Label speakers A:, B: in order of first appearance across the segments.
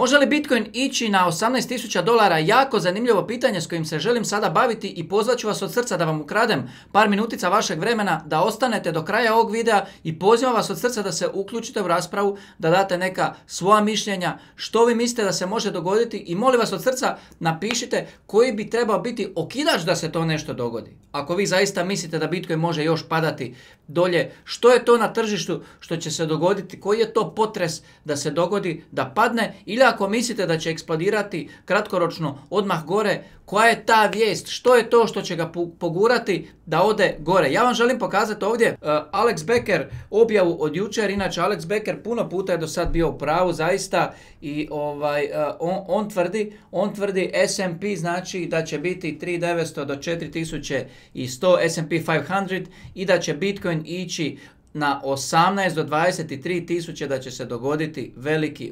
A: Može li Bitcoin ići na $18.000? Jako zanimljivo pitanje s kojim se želim sada baviti i pozvat ću vas od srca da vam ukradem par minutica vašeg vremena, da ostanete do kraja ovog videa i pozivam vas od srca da se uključite u raspravu, da date neka svoja mišljenja, što vi mislite da se može dogoditi i molim vas od srca napišite koji bi trebao biti okidač da se to nešto dogodi. Ako vi zaista mislite da Bitcoin može još padati dolje, što je to na tržištu što će se dogoditi, koji je to potres da se dogodi, da padne, ili ako mislite da će eksplodirati kratkoročno odmah gore, koja je ta vijest, što je to što će ga pogurati da ode gore. Ja vam želim pokazati ovdje Alex Becker objavu od jučer. Inače Alex Becker puno puta je do sad bio u pravu zaista i on tvrdi S&P znači da će biti 3900 do 4100 S&P 500 i da će Bitcoin ići na 18 do 23 tisuće, da će se dogoditi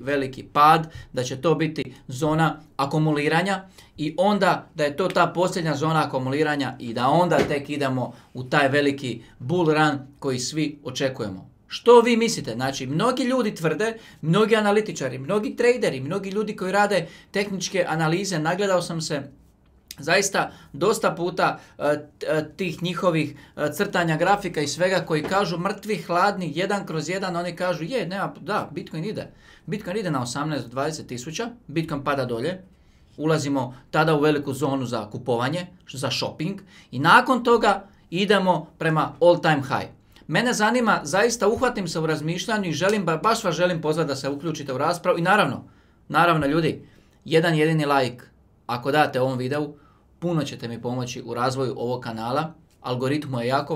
A: veliki pad, da će to biti zona akumuliranja i onda da je to ta posljednja zona akumuliranja i da onda tek idemo u taj veliki bull run koji svi očekujemo. Što vi mislite? Znači, mnogi ljudi tvrde, mnogi analitičari, mnogi traderi, mnogi ljudi koji rade tehničke analize, nagledao sam se zaista dosta puta tih njihovih crtanja grafika i svega koji kažu mrtvi, hladni, 1/1, oni kažu Bitcoin ide. Bitcoin ide na 18 do 20 tisuća, Bitcoin pada dolje, ulazimo tada u veliku zonu za kupovanje, za shopping i nakon toga idemo prema all time high. Mene zanima, zaista uhvatim se u razmišljanju i baš vas želim pozvati da se uključite u raspravu i naravno ljudi, jedan jedini like ako date ovom videu, puno ćete mi pomoći u razvoju ovog kanala. Algoritmu je jako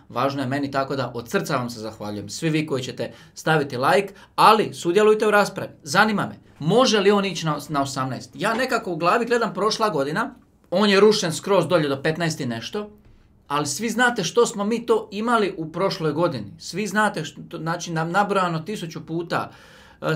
A: važno je meni, tako da od srca vam se zahvaljujem. Svi vi koji ćete staviti like, ali sudjelujte u raspravi. Zanima me, može li on ići na 18? Ja nekako u glavi gledam prošla godina, on je rušen skroz dolje do 15 i nešto, ali svi znate što smo mi to imali u prošloj godini. Svi znate, znači nabrojano 1000 puta.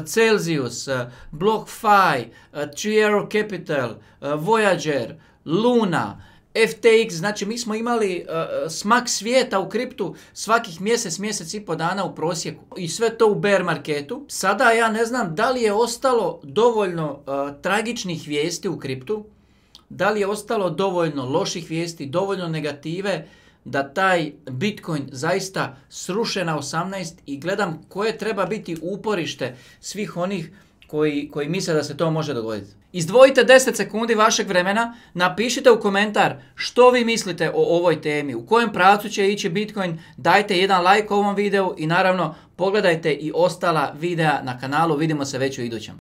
A: Celsius, BlockFi, Three Arrow Capital, Voyager, Luna, FTX, znači mi smo imali smak svijeta u kriptu svakih mjesec i pol dana u prosjeku i sve to u bear marketu. Sada ja ne znam da li je ostalo dovoljno tragičnih vijesti u kriptu, da li je ostalo dovoljno loših vijesti, dovoljno negative da taj Bitcoin zaista sruše na 18 i gledam koje treba biti uporište svih onih koji misle da se to može dogoditi. Izdvojite 10 sekundi vašeg vremena, napišite u komentar što vi mislite o ovoj temi, u kojem pravcu će ići Bitcoin, dajte jedan like ovom videu i naravno pogledajte i ostala videa na kanalu, vidimo se već u idućem.